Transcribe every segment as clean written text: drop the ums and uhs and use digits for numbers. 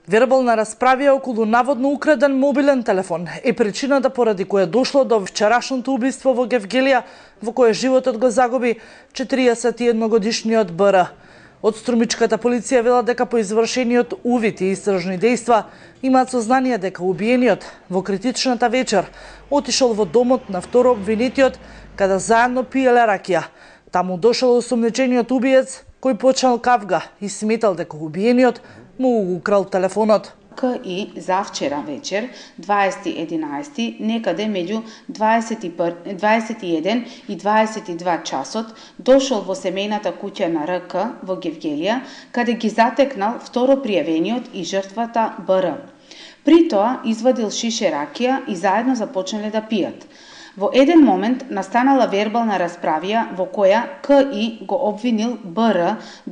Вербална расправија околу наводно украден мобилен телефон е причината поради која дошло до вчерашното убиство во Гевгелија, во кое животот го загуби 41-годишниот БР. Од Струмичката полиција вела дека по извршениот увид и истражни дејства имаат сознание дека убиениот во критичната вечер отишол во домот на второ обвинетиот каде заедно пиеле ракија. Таму дошол осомничениот убиец кој почнал кавга и сметал дека убиениот му украл телефонот. КИ за вчера вечер, 20.11, некаде меѓу 21 и 22 часот, дошол во семејната куќа на РК во Гевгелија, каде ги затекнал второ пријавениот и жртвата БР. При тоа извадил шише ракија и заедно започнале да пијат. Во еден момент настанала вербална расправија во која КИ го обвинил БР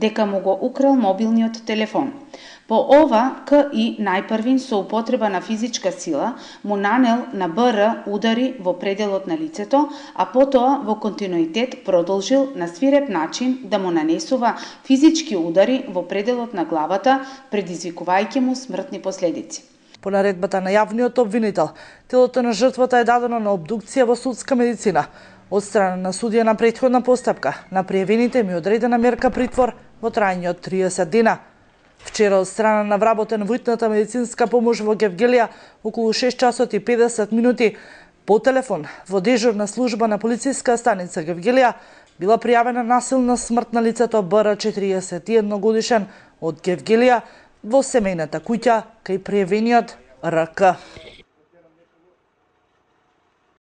дека му го украл мобилниот телефон. По ова, КИ најпрвин со употреба на физичка сила му нанел на БР удари во пределот на лицето, а потоа во континуитет продолжил на свиреп начин да му нанесува физички удари во пределот на главата, предизвикувајќи му смртни последици. По наредбата на јавниот обвинител, телото на жртвата е дадено на обдукција во судска медицина. Од страна на судија на претходна постапка, на пријавените ми одредена мерка притвор во трајање од 30 дена. Вчера од страна на вработен во итната медицинска помош во Гевгелија околу 6 часот и 50 минути по телефон во дежурна служба на полициска станица Гевгелија била пријавена насилна смрт на лицето БР 41 годишен од Гевгелија во семејната куќа кај пријавениот РК.